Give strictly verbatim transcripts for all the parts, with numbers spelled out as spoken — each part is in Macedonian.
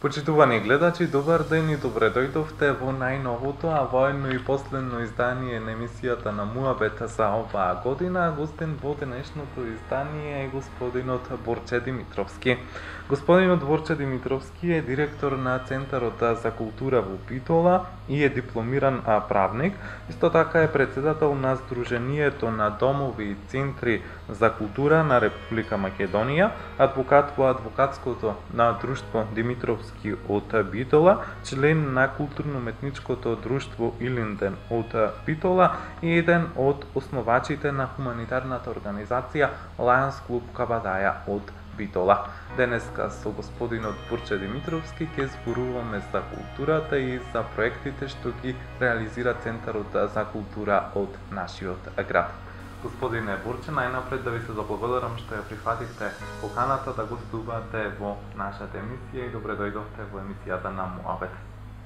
Почитувани гледачи, добар ден и добре дојдовте во најновото, а воено и последно издание на емисијата на Муабет за оваа година. Гостин во денешното издание е господинот Борче Димитровски. Господинот Борче Димитровски е директор на Центарот за култура во Битола и е дипломиран правник. Исто така е председател на Сдруженијето на домови и центри за култура на Република Македонија, адвокат во адвокатското на Друштво Димитровски од Битола, член на културно-уметничкото друштво Илинден од Битола и еден од основачите на хуманитарната организација Lions Club Кабадаја од Битола. Денеска со господинот Борче Димитровски ќе зборуваме за културата и за проектите што ги реализира Центарот за култура од нашиот град. Господине Борче, најнапред да ви се заблагодарам што ја прифативте поканата да гостувате во нашата емисија и добре дојдовте во емисијата на Муабет.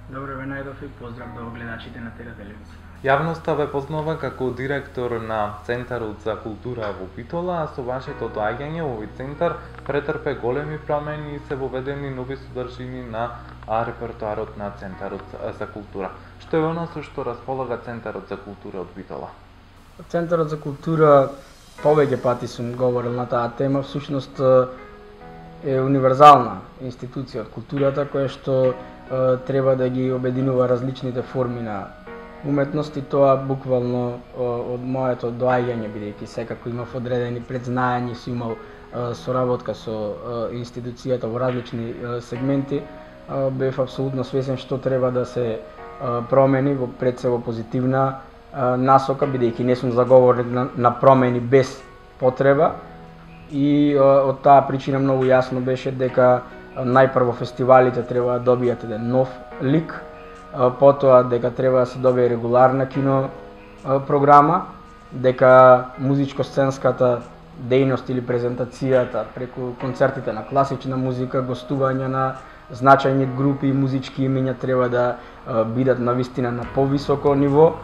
Добре ве најдов и поздрав до гледачите на Тера телевизија. Јавноста ве познава како директор на Центарот за култура во Битола, а со вашето доаѓање во овој центар претрпе големи промени и се воведени нови содржини на репертоарот на Центарот за култура. Што е она со што располага Центарот за култура од Битола? Центарот за култура, повеќе пати сум говорил на таа тема, всушност е универзална институција од културата која што е, треба да ги обединува различните форми на уметност и тоа буквално од моето доаѓање, бидејќи секако имав одредени предзнаења, си имал е, соработка со е, институцијата во различни е, сегменти, е, бев апсолутно свесен што треба да се е, промени во пред се во позитивна насока, бидејќи не сум заговорник на, на промени без потреба и од таа причина многу јасно беше дека најпрво фестивалите треба да добијат еден нов лик, потоа дека треба да се добие регуларна кино програма, дека музичко-сценската дејност или презентацијата преку концертите на класична музика, гостување на значајни групи и музички имиња треба да бидат навистина на повисоко ниво,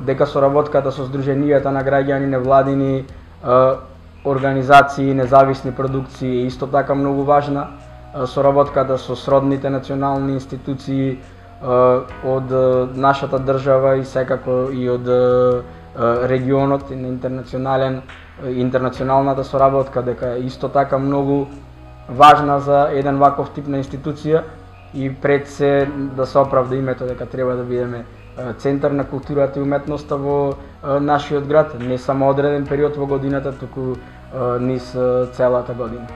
дека соработката со Сдруженијата на граѓани, невладини е, организации, независни продукции е исто така многу важна. Е, соработката со сродните национални институции е, од нашата држава и секако и од е, регионот и на интернационален интернационалната соработка дека е исто така многу важна за еден ваков тип на институција и пред се да се оправда името дека треба да бидеме центар на културата и уметноста во нашиот град, не само одреден период во годината, туку низ целата година.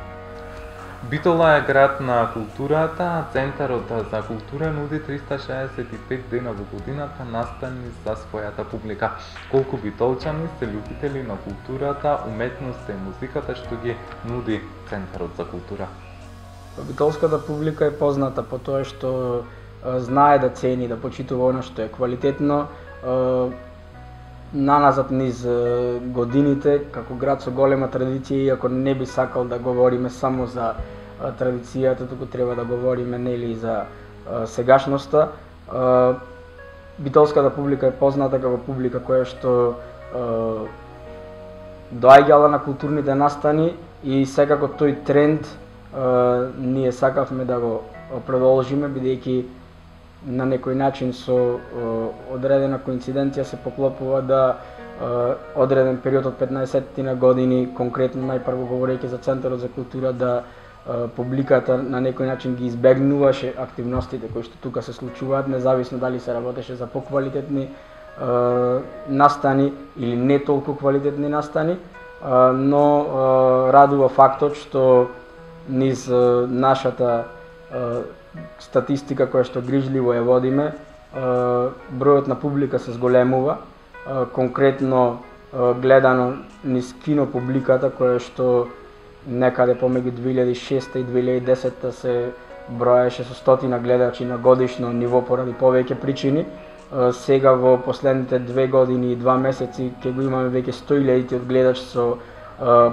Битола е град на културата, а Центарот за култура нуди триста шеесет и пет дена во годината настани за својата публика. Колку битолчани се љубители на културата, уметноста и музиката што ги нуди Центарот за култура? Битолската публика е позната по тоа што знае да цени, да почитува она што е квалитетно. Наназад низ годините, како град со голема традиција, иако не би сакал да говориме само за традицијата, туку треба да говориме нели за сегашноста. Битолската публика е позната како публика која што доаѓала на културните настани и секако тој тренд ние сакавме да го продолжиме, бидејќи на некој начин со о, одредена коинциденција се поклопува да о, одреден период од петнаесет на години, конкретно најпрво говорејќи за Центарот за култура, да о, публиката на некој начин ги избегнуваше активностите кои што тука се случуваат, независно дали се работеше за поквалитетни о, настани или не толку квалитетни настани, о, но о, радува фактот што низ о, нашата о, статистика која што грижливо ја водиме, бројот на публика се зголемува, конкретно гледано низ кино публиката која што некаде помеѓу две илјади и шеста и две илјади и десета се броеше со стотина гледачи на годишно ниво поради повеќе причини. Сега во последните две години и два месеци ќе го имаме веќе сто илјади од гледачи со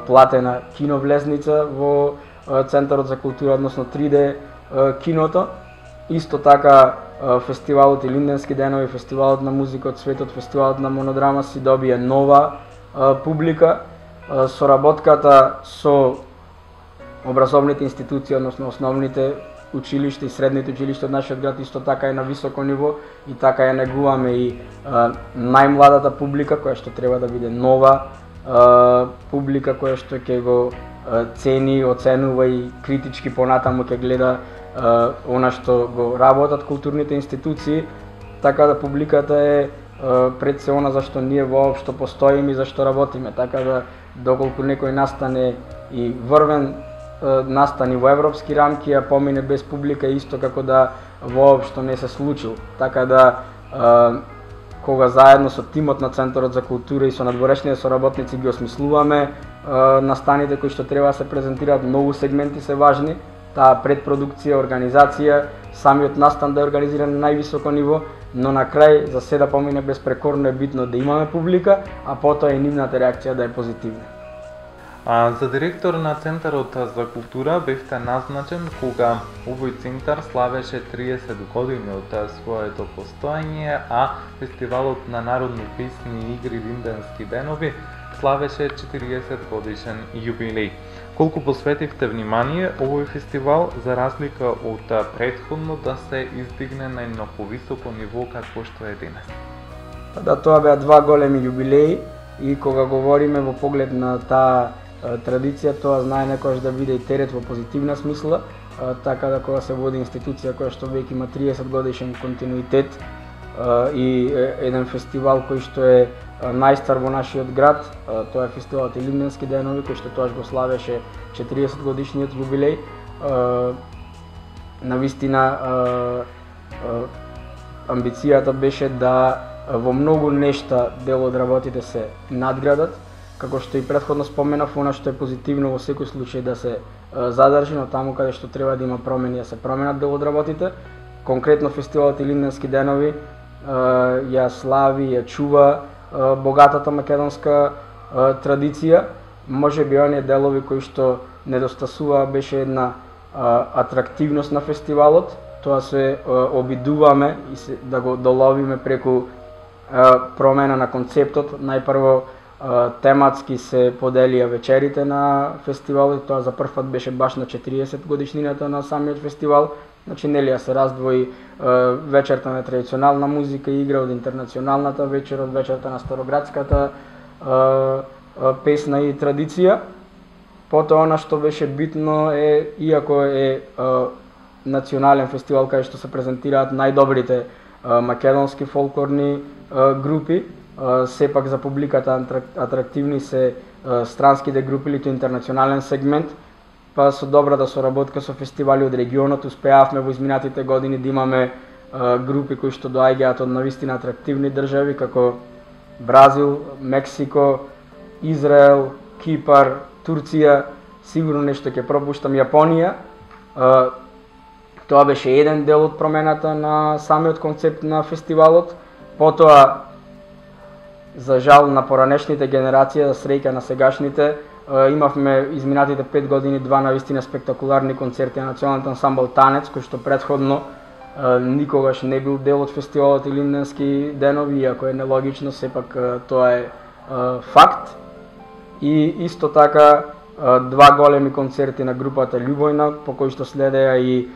платена киновлезница во Центарот за култура, односно три де киното. Исто така фестивалот Илинденски денови, фестивалот на музика од светот, фестивалот на монодрама си добија нова публика. Соработката со образовните институции, односно основните училиште и средните училишта од нашиот град исто така е на високо ниво и така ја негуваме и а, најмладата публика која што треба да биде нова а, публика која што ќе го а, цени, оценува и критички понатаму ќе гледа а, она што го работат културните институции, така да публиката е а, пред се она зашто ние воопшто постоиме и зашто работиме, така да доколку некој настане и врвен настани во европски рамки, а помине без публика исто како да воопшто не се случил. Така да кога заедно со тимот на Центарот за култура и со надворешните соработници ги осмислуваме настаните кои што треба да се презентираат, многу сегменти се важни, таа предпродукција, организација, самиот настан да е организиран на највисоко ниво, но на крај за се да помине безпрекорно е битно да имаме публика, а потоа и нивната реакција да е позитивна. А, за директор на Центарот за култура бевте назначен кога овој центар славеше триесет години од своето постоење, а фестивалот на народни песни и игри Линденски денови славеше четириесет годишен јубилеј. Колку посветивте внимание овој фестивал за разлика од претходно да се издигне на едно повисоко ниво какво што е денес? Да, тоа беа два големи јубилеи и кога говориме во поглед на таа традиција, тоа знае некојаш да биде и терет во позитивна смисла, така да кога се води институција која што веќе има триесет годишен континуитет и еден фестивал кој што е најстар во нашиот град, тоа е фестивалот Илинденски денови, кој што тоаш го славеше четириесет годишниот јубилеј. Навистина амбицијата беше да во многу нешта дел од работите се надградат, како што и претходно споменав, она што е позитивно во секој случај да се задржи, но таму каде што треба да има промени да се променат дел од работите. Конкретно фестивалот Илинденски денови ја слави, ја чува богатата македонска традиција. Може би оние делови кои што недостасува беше една атрактивност на фестивалот. Тоа се обидуваме и се, да го доловиме преку промена на концептот. Најпрво тематски се поделија вечерите на фестивалот, тоа за прв пат беше баш на четириесет годишнината на самиот фестивал. Значи нели се раздвои вечерта на традиционална музика и игра од интернационалната вечер, од вечерта на староградската песна и традиција. Потоа она што беше битно е, иако е национален фестивал каде што се презентираат најдобрите македонски фолклорни групи, сепак за публиката атрактивни се странските групи или интернационален сегмент, па со добрата соработка со фестивали од регионот успеавме во изминатите години да имаме групи кои што доаѓаат од навистина атрактивни држави како Бразил, Мексико, Израел, Кипар, Турција, сигурно нешто ќе пропуштам, Јапонија. Тоа беше еден дел од промената на самиот концепт на фестивалот. Потоа, за жал на поранешните генерации, за среќа на сегашните, имавме изминатите пет години два навистина спектакуларни концерти на националниот ансамбл Танец, кој што претходно никогаш не бил дел од фестивалот Илинденски денови, иако е нелогично, сепак тоа е факт. И исто така два големи концерти на групата Љубојна, по кои што следеа и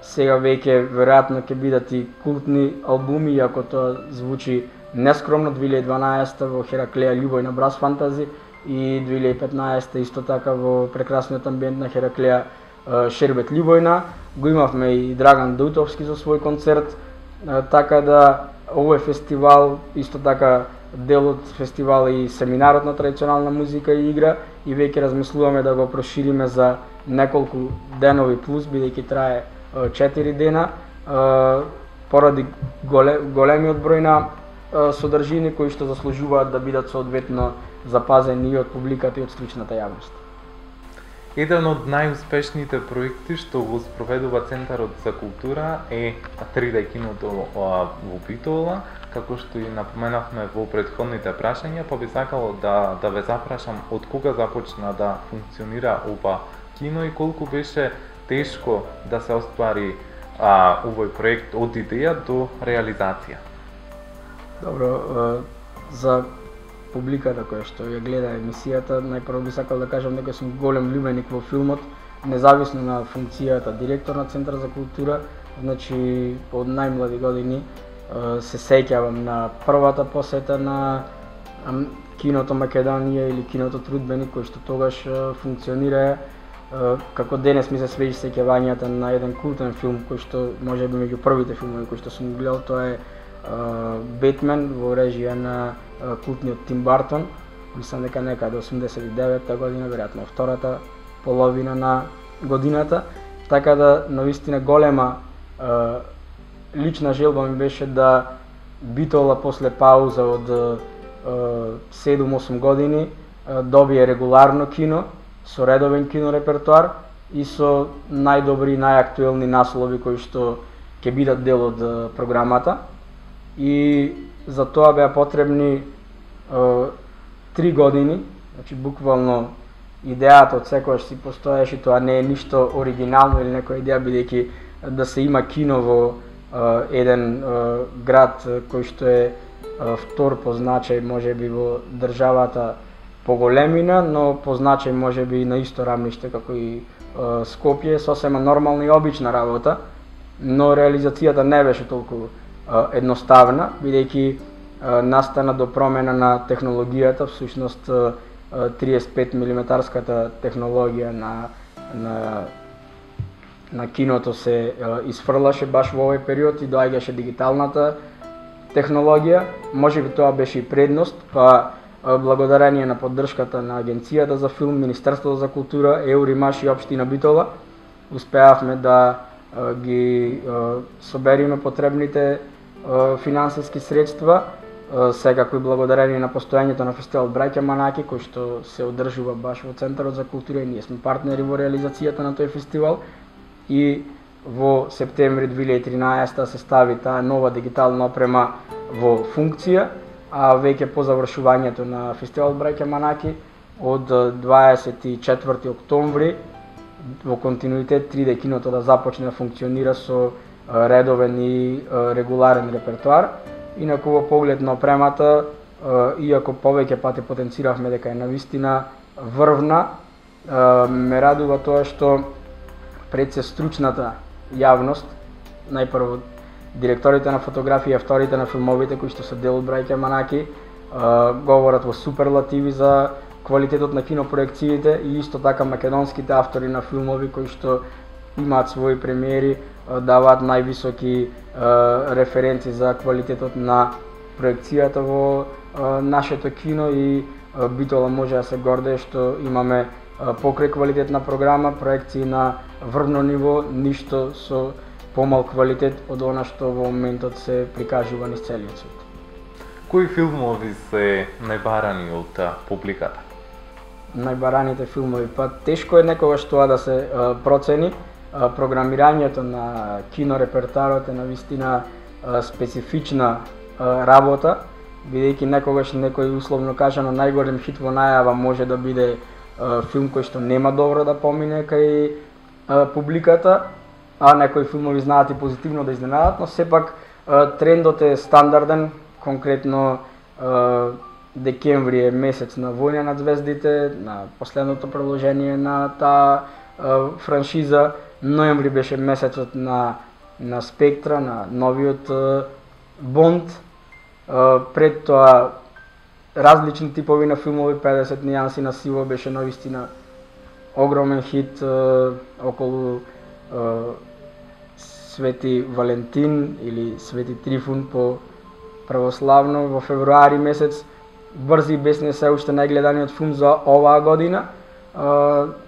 сега веќе веројатно ќе бидат и култни албуми, иако тоа звучи нескромно. две илјади и дванаесета во Хераклеја Љубојна Брас Фантази и две илјади и петнаесета исто така во прекрасниот амбиент на Хераклеја Шербет Љубојна. Го имавме и Драган Даутовски за свој концерт, така да овој фестивал исто така дел од фестивал и семинарот на традиционална музика и игра и веќе размислуваме да го прошириме за неколку денови плюс, бидејќи трае четири дена, поради големиот број на содржини кои што заслужуваат да бидат соодветно запазени и од публиката и од стручната јавност. Еден од најуспешните проекти што го спроведува Центарот за култура е три дэ киното во Битола, како што и напоменавме во претходните прашања, па би сакало да, да ве запрашам од кога започна да функционира ова кино и колку беше тешко да се оствари а, овој проект од идеја до реализација. Добро, за публиката која што ја гледа емисијата, најпрво би сакал да кажам дека сум голем љубеник во филмот, независно на функцијата директор на Центар за култура, значи од најмлади години се сеќавам на првата посета на киното Македонија или киното Трудбеник, кој што тогаш функционира. Како денес ми се свежи сеќавањата на еден култен филм кој што можеби меѓу првите филмови кои што сум гледал, тоа е Бетмен во режија на култниот Тим Бартон. Мислам дека некаде осумдесет и девета година, веројатно втората половина на годината. Така да, навистина голема лична желба ми беше да Битола после пауза од седум-осум години добие регуларно кино, со редовен кинорепертоар и со најдобри и најактуелни наслови кои што ќе бидат дел од програмата. И за тоа беа потребни три години, значи буквално идејата од секогаш си постоеше, тоа не е ништо оригинално или некоја идеја, бидејќи да се има кино во еден град кој што е втор по значај можеби во државата по големина, но по значај можеби на исто рамниште како и Скопје, сосема нормална и обична работа, но реализацијата не беше толку едноставна, бидејќи настана до промена на технологијата, всушност триесет и пет милиметарската технологија на на на киното се изфрлаше баш во овој период и доаѓаше дигиталната технологија. Можеби тоа беше и предност, па благодарение на поддршката на Агенцијата за филм, Министерството за култура, Еуримаш и Општина Битола, успеавме да ги собериме потребните финансиски средства, секако и благодарение на постојањето на фестивал Браќа Манаки, кој што се одржува баш во Центарот за култура и ние сме партнери во реализацијата на тој фестивал. И во септември две илјади и тринаесета се стави таа нова дигитална опрема во функција, а веќе по завршувањето на фестивал Браќа Манаки од дваесет и четврти октомври во континуитет три Д киното да започне да функционира со редовен и регуларен репертоар. Инаку во поглед на опремата, иако повеќе пати потенциравме дека е навистина врвна, ме радува тоа што пред се стручната јавност, најпрво директорите на фотографија и авторите на филмовите кои што се дел од Браќа Манаки, говорат во суперлативи за квалитетот на кинопроекциите и исто така македонските автори на филмови кои што имаат своји премиери, даваат највисоки референци за квалитетот на проекцијата во нашето кино и Битола може да се гордее што имаме покрај квалитетна програма, проекции на врвно ниво, ништо со помал квалитет од она што во моментот се прикажува низ целиот свет. Кои филмови се најбарани од публиката? Најбараните филмови, па тешко е некогаш тоа да се а, процени. А, програмирањето на кинорепертоарот е навистина а, специфична а, работа, бидејќи некогаш некој условно кажано најголем хит во најава може да биде а, филм кој што нема добро да помине кај а, публиката, а некои филмови знаат и позитивно да изненадат, но сепак а, трендот е стандарден, конкретно а, декември е месец на Војна над звездите, на последното продолжение на таа франшиза, ноември беше месецот на на Спектра, на новиот а, Бонд, а, пред тоа различни типови на филмови, педесет нијанси на сиво беше навистина огромен хит а, околу а, Свети Валентин или Свети Трифун по православно во февруари месец. Брзи и бесни се уште најгледаниот филм за оваа година,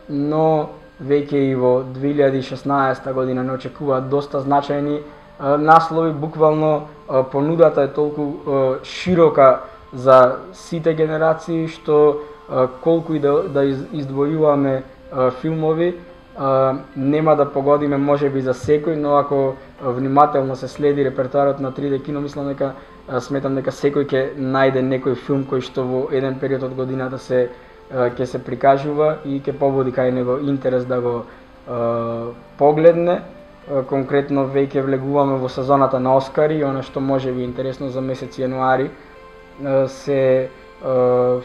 но веќе и во две илјади и шеснаесета година не очекуваат доста значајни наслови. Буквално понудата е толку широка за сите генерации што колку и да, да издвојуваме филмови, нема да погодиме можеби за секој, но ако внимателно се следи репертоарот на три Д кино, мислам дека сметам дека секој ќе најде некој филм кој што во еден период од годината се ќе се прикажува и ќе побуди кај него интерес да го е, погледне. Конкретно веќе влегуваме во сезоната на Оскари, она што може би интересно за месец јануари се е,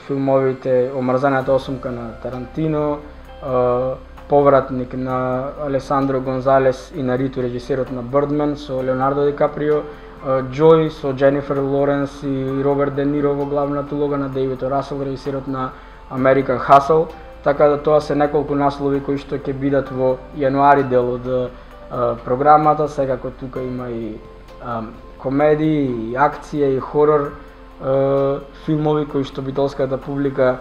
филмовите Омрзаната осумка на Тарантино, е, повратник на Алесандро Гонзалес и Нариту, режисерот на Бирдман, со Леонардо Ди Каприо, Джој со Дженифер Лоренс и Роберт Де Ниро во главната улога, на Дейвид О. Расел, режисерот на American Hustle, така да тоа се неколку наслови кои што ќе бидат во јануари дел од а, програмата. Секако тука има и а, комедии, и акција, и хорор а, филмови кои што битолската публика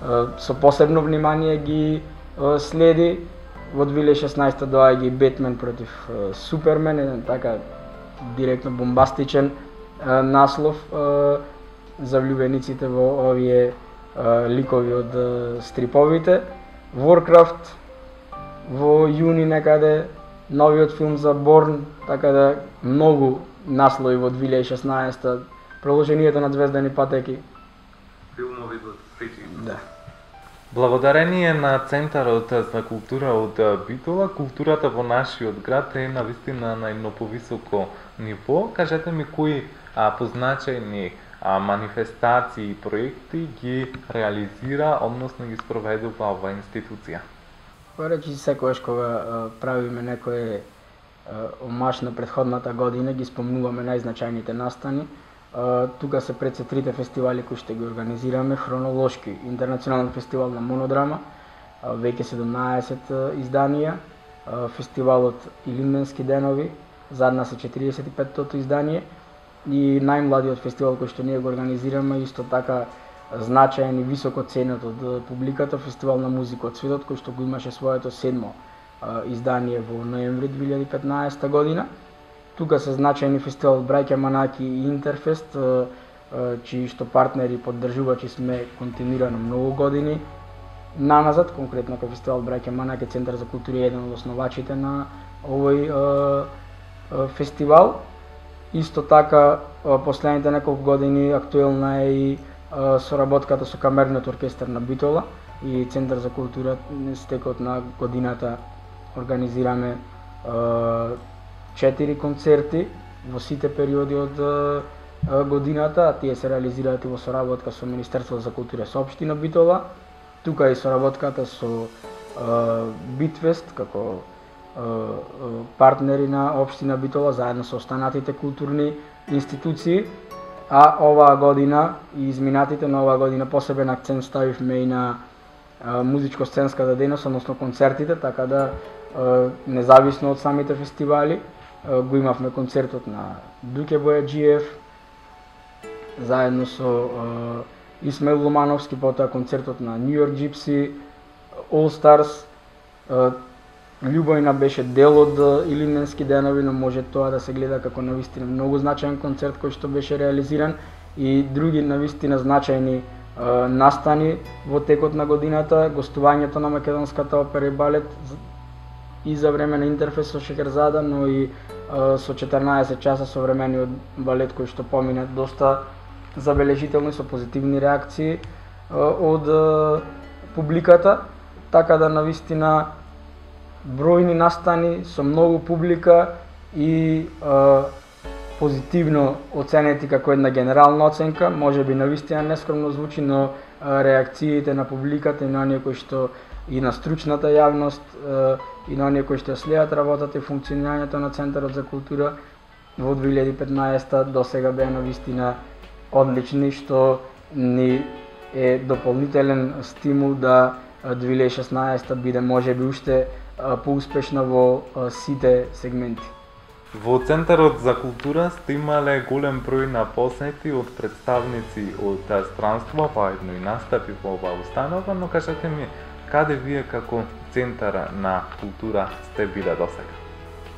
а, со посебно внимание ги а, следи. Во две илјади и шеснаесета доаѓа и Бетмен против а, Супермен, еден така директно бомбастичен а, наслов а, за влюбениците во овие а, ликови од а, стриповите. Warcraft во јуни некаде, новиот филм за Борн, така да многу наслови во две илјади и шеснаесета, продолжението на Звездани патеки. Филмови за среќи. Да. Благодарение на Центарот за култура од Битола, културата во нашиот град е навистина на едно повисоко ниво. Кажете ми кои а, позначајни а, манифестации и проекти ги реализира, односно ги спроведува оваа институција? Речи секогаш кога а, правиме некој омаш на претходната година, ги спомнуваме најзначајните настани. Uh, тука се пред се трите фестивали кои што ги организираме хронолошки. Интернационален фестивал на монодрама, uh, веќе седумнаесет uh, изданија, uh, фестивалот Илинденски денови, зад нас е четиридесет и петтото издание, и најмладиот фестивал кој што ние го организираме, исто така значаен и високо ценет од uh, публиката, фестивал на музика од светот, кој што го имаше своето седмо uh, издание во ноември две илјади и петнаесета година. Тука се значајни фестивал Браќа Манаки и Интерфест, чии што партнери и поддржувачи сме континуирано многу години наназад. Конкретно кај фестивал Браќа Манаки, Центар за култура е еден од основачите на овој е, е, фестивал. Исто така, последните неколку години актуелна е и е, соработката со Камерниот оркестар на Битола и Центар за култура. Стекот на годината организираме е, четири концерти во сите периоди од а, годината, а тие се реализираат и во соработка со Министерството за култура со општина Битола. Тука и соработката со а, Битфест како а, партнери на општина Битола заедно со останатите културни институции. А оваа година и изминатите на оваа година посебен акцент ставивме и на музичко-сценската дејност, односно концертите, така да а, независно од самите фестивали го имавме концертот на Дуке Бојаджиев заедно со uh, Исмаил Ломановски, потоа концертот на New York Gypsy, All Stars. Uh, Љубојна беше дел од uh, Илинденски денови, но може тоа да се гледа како навистина многу значаен концерт кој што беше реализиран, и други навистина значајни uh, настани во текот на годината, гостувањето на македонската опера и балет и за време на Интерфест со Шекерзада, но и а, со четрнаесет часа современиот балет кој што помина доста забележително и со позитивни реакции а, од а, публиката, така да навистина бројни настани со многу публика и а, позитивно оценети како една генерална оценка. Може би навистина нескромно звучи, но а, реакциите на публиката и на оние кои што и на стручната јавност и на оние кои што следат работата и функционирањето на Центарот за култура во две илјади и петнаесета досега беа навистина одлични, што ни е дополнителен стимул да две илјади и шеснаесета биде можеби уште поуспешна во сите сегменти. Во Центарот за култура сте имале голем број на посети од представници од странство, па едно и настапи во оваа установа, но кажете ми, каде вие како Центар на култура сте биле досега?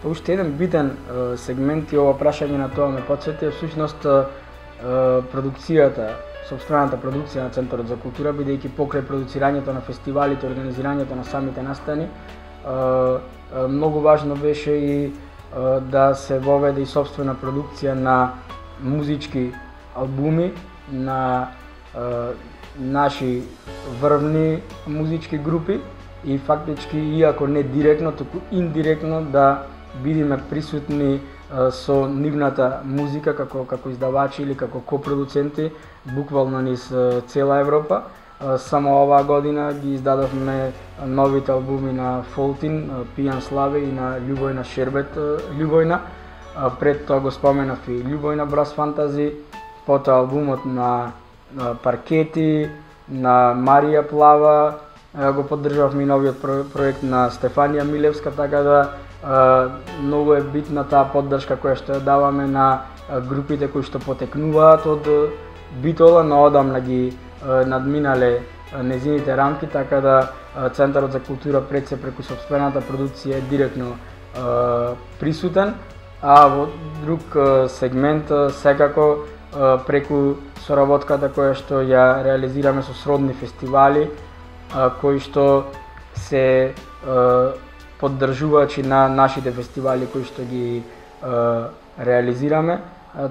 Уште еден битен е, сегмент и ова прашање на тоа ме потсети, всушност е, продукцијата, сопствената продукција на Центарот за култура, бидејќи покрај продуцирањето на фестивалите, организирањето на самите настани, е, е, многу важно беше и е, да се воведе и сопствена продукција на музички албуми, на е, наши врвни музички групи, и фактички, иако не директно, туку индиректно да бидеме присутни а, со нивната музика како како издавачи или како копродуценти буквално низ цела Европа. Само оваа година ги издадовме новите албуми на Фолтин, Пијан Славе и на Љубојна Шербет Љубојна. Пред тоа го споменав и Љубојна Брас Фантази, потоа албумот на Паркети, на Марија Плава, го поддржавме и новиот проект на Стефанија Милевска, така да многу е битна таа поддршка која што ја даваме на групите кои што потекнуваат од Битола, но одамна ги надминале незините рамки, така да Центарот за култура пред се преку сопствената продукција е директно присутен, а во друг сегмент секако преку соработката која што ја реализираме со сродни фестивали кои што се поддржувачи на нашите фестивали кои што ги реализираме,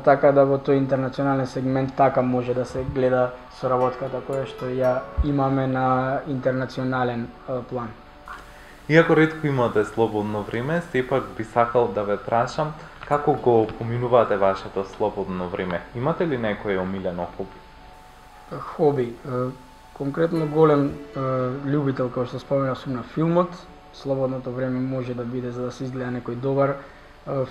така да во тој интернационален сегмент така може да се гледа соработката која што ја имаме на интернационален план. Иако ретко имате слободно време, сепак би сакал да ве прашам како го поминувате вашето слободно време? Имате ли некој омилено хоби? Хоби, конкретно голем љубител, како што споменав, сум на филмот. Слободното време може да биде за да се изгледа некој добар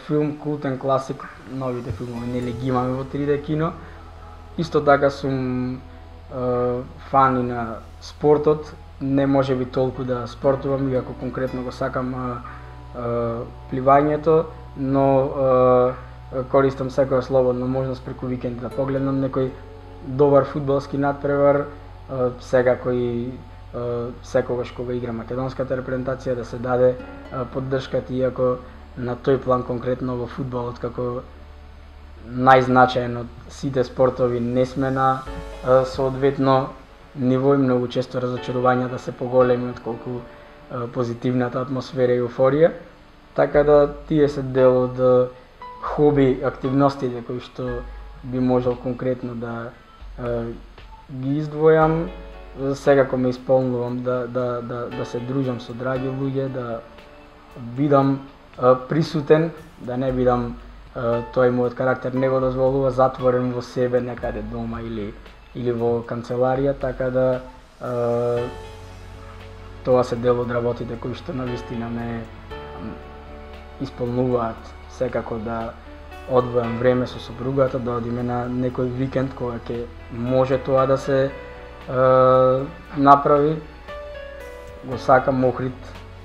филм, култен класик, новите филмови нели ги имаме во три де кино. Исто така сум е, фан и на спортот, не може би толку да спортувам, иако конкретно го сакам е, е, пливањето, но е, користам секоја слободна можност преку викенд да погледнам некој добар фудбалски надпревар, е, секако и секогаш кога игра македонската репрезентација да се даде поддршката, иако на тој план конкретно во фудбалот како најзначаен од сите спортови не сме на соодветно ниво и многу често разочарувањата се поголеми отколку позитивната атмосфера и еуфорија. Така да тие се дел од хоби активностите кои што би можел конкретно да ги издвојам. Секако ме исполнувам да, да, да, да се дружам со драги луѓе, да бидам а, присутен, да не бидам а, тој мојот карактер не го дозволува затворен во себе некаде дома или или во канцеларија, така да а, тоа се дел од работите кои што навистина ме исполнуваат. Секако да одвојам време со сопругата, да одиме на некој викенд кога ќе може тоа да се Uh, направи. Го сакам Охрид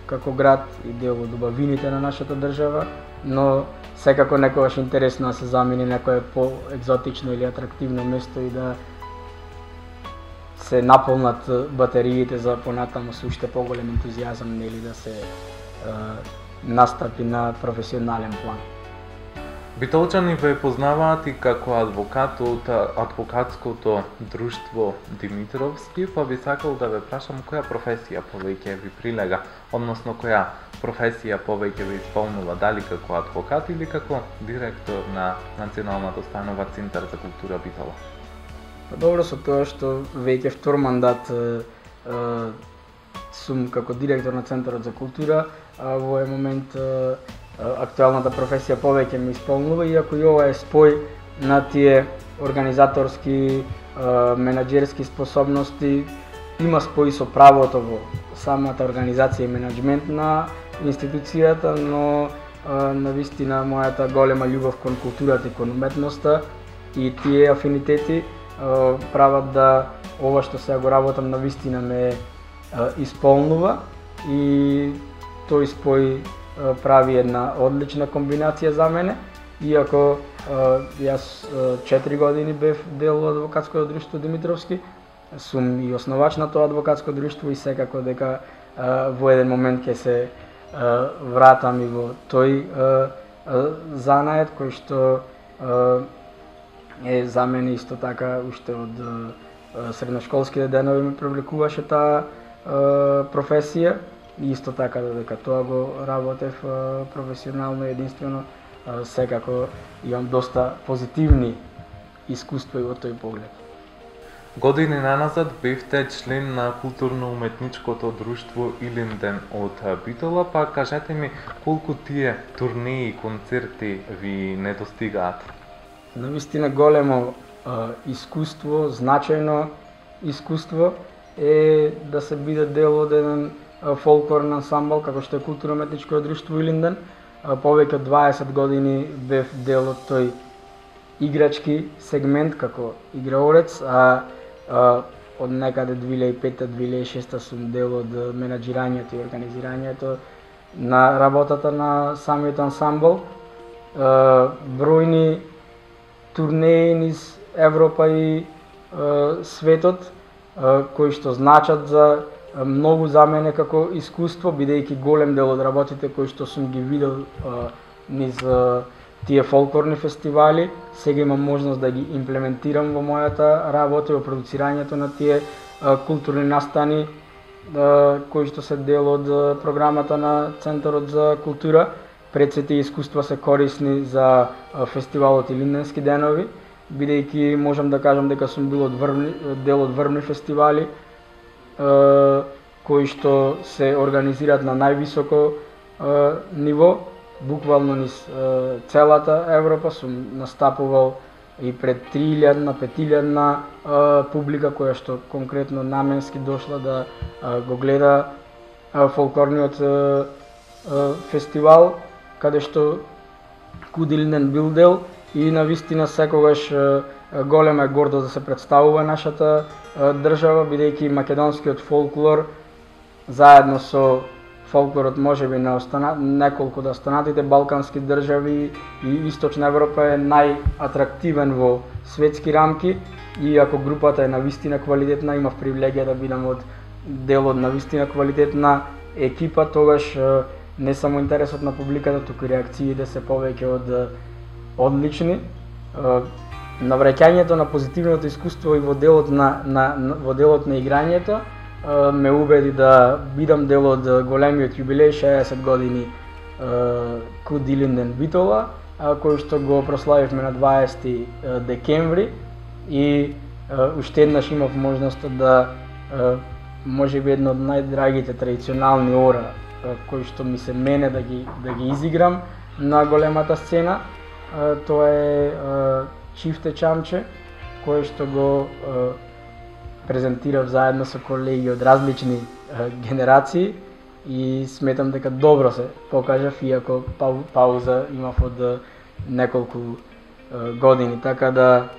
како град и дел од убавините на нашата држава, но секако некогаш интересно да се замени некое по-екзотично или атрактивно место и да се наполнат батериите за понатаму со уште поголем ентузијазам, нели да се uh, настапи на професионален план. Битолчани ве познаваат и како адвокат од адвокатското друштво Димитровски, па би сакал да ве прашам која професија повеќе ви прилега, односно која професија повеќе ви исполнува, дали како адвокат или како директор на Националната установа Центар за култура Битола? Па добро, со тоа што веќе втор мандат е, е, сум како директор на Центарот за култура, а во овој момент е, актуелната професија повеќе ми исполнува, иако и ова е спој на тие организаторски, менаџерски способности, има спој со правото во самата организација и менаџмент на институцијата, но навистина мојата голема љубов кон културата и кон уметноста и тие афинитети прават да ова што сега го работам навистина ме исполнува и тој спој прави една одлична комбинација за мене, иако јас четири години бев дел од адвокатското друштво Димитровски, сум и основач на тоа адвокатско друштво и секако дека во еден момент ќе се вратам и во тој занает кој што е за мене исто така уште од средношколските денови ме привлекуваше таа професија. И исто така додека тоа го работев професионално и единствено, секако имам доста позитивни искуства и во тој поглед. Години наназад бевте член на културно-уметничкото друштво Илинден од Битола, па кажете ми колку тие турнеи и концерти ви недостигаат? Навистина големо искуство, значајно искуство, е да се биде дел од еден фолклорен ансамбл како што е културно-уметничко друштво Илинден. Повеќе од дваесет години бев дел од тој играчки сегмент како играорец, а, а од некаде две илјади и петта до две илјади и шеста сум дел од менаџирањето и организирањето на работата на самиот ансамбл. Бројни турнеи низ Европа и светот кои што значат за многу за мене како искуство, бидејќи голем дел од работите кои што сум ги видел низ тие фолклорни фестивали, сега имам можност да ги имплементирам во мојата работа, во продуцирањето на тие културни настани кои што се дел од програмата на Центарот за култура. Пред се тие искуства се корисни за фестивалот Илинденски денови, бидејќи можам да кажам дека сум бил од врвни, дел од врвни фестивали кои што се организираат на највисоко ниво, буквално низ целата Европа. Сум настапувал и пред три илјадна, пет илјадна публика која што конкретно наменски дошла да го гледа фолклорниот фестивал, каде што Куд Илинден бил дел, и навистина секогаш голема е гордост да се представува нашата држава, бидејќи македонскиот фолклор заедно со фолклорот можеби на остана... неколку од останатите балкански држави и Источна Европа е најатрактивен во светски рамки, и ако групата е навистина квалитетна, имав привилегија да бидам од дел од навистина квалитетна екипа, тогаш не само интересот на публиката, туку реакциите се повеќе од одлични. Навраќањето на позитивното искуство и во делот на, на, во делот на играњето ме убеди да бидам дел од големиот юбилеј, шеесет години Куд Илинден Битола, кој што го прославивме на дваесети декември, и уште еднаш имав можност да можеби едно од најдрагите традиционални ора кои што ми се мене да ги да ги изиграм на големата сцена. Тоа е Чифте Чамче, кој што го презентирав заедно со колеги од различни генерации, и сметам дека добро се покажав, иако пауза имав од неколку години. Така да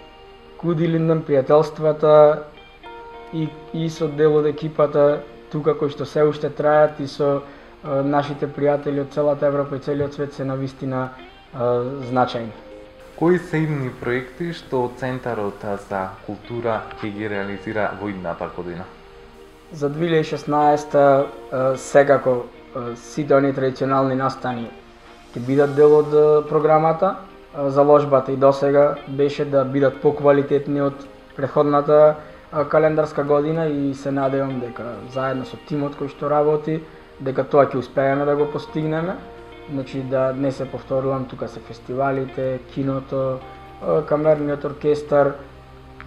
Куд Илинден, пријателствата и, и со дел од екипата тука кои што се уште трајат, и со нашите пријатели од целата Европа и целиот свет се навистина значајни. Кои се идни проекти што Центарот за култура ќе ги реализира во идната година? За две илјади и шеснаесета секако сите оние традиционални настани ќе бидат дел од програмата. Заложбата и досега беше да бидат поквалитетни од претходната календарска година, и се надевам дека заедно со тимот кој што работи, дека тоа ќе успееме да го постигнеме. Значи да не се повторувам, тука се фестивалите, киното, камерниот оркестар,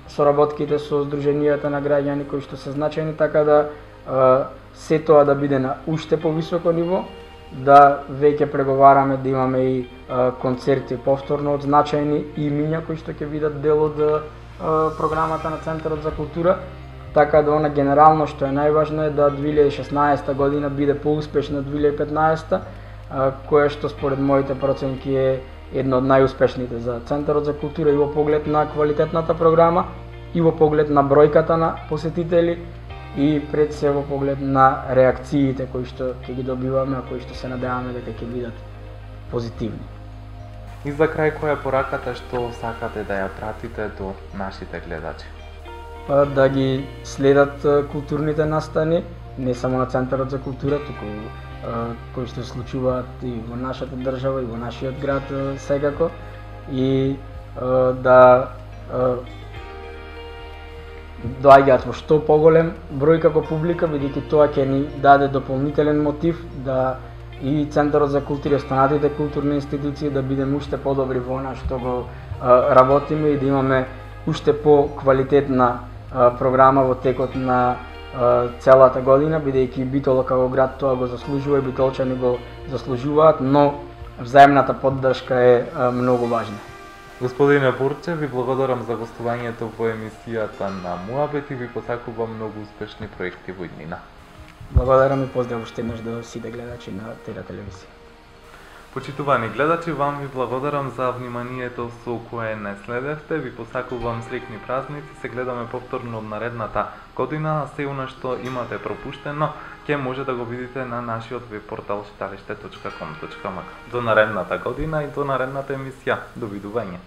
соработките со здруженијата на граѓани кои што се значајни, така да се тоа да биде на уште повисоко ниво, да веќе преговараме да имаме и концерти повторно од значајни имиња кои што ќе бидат дел од програмата на Центарот за култура. Така да она генерално што е најважно е да две илјади и шеснаесета година биде поуспешна од две илјади и петнаесета, кое што според моите проценки е едно од најуспешните за Центарот за култура, и во поглед на квалитетната програма, и во поглед на бројката на посетители, и пред се во поглед на реакциите кои што ќе ги добиваме, а кои што се надеваме дека ќе бидат позитивни. И за крај, која е пораката што сакате да ја пратите до нашите гледачи? Па да ги следат културните настани, не само на Центарот за култура, туку кои што се случуваат и во нашата држава и во нашиот град секако, и да доаѓаат во што поголем број како публика, бидејќи тоа ќе ни даде дополнителен мотив да и Центарот за култура и останатите културни институции да бидеме уште подобри во она што го работиме, и да имаме уште по-квалитетна програма во текот на целата година, бидејќи Битола како град тоа го заслужува и битолчани го заслужуваат, но взаемната поддршка е многу важна. Господине Бурче, ви благодарам за гостувањето во емисијата на Муабет и ви посакувам многу успешни проекти во иднина. Благодарам и поздрав уште еднаш до сите гледачи на Тера телевизија. Почитувани гледачи, вам ви благодарам за вниманието со кое не следевте. Ви посакувам среќни празници. Се гледаме повторно од наредната година, а се она што имате пропуштено ќе може да го видите на нашиот веб портал читалиште точка ком точка ем ка. До наредната година и до наредната емисија. Довидување.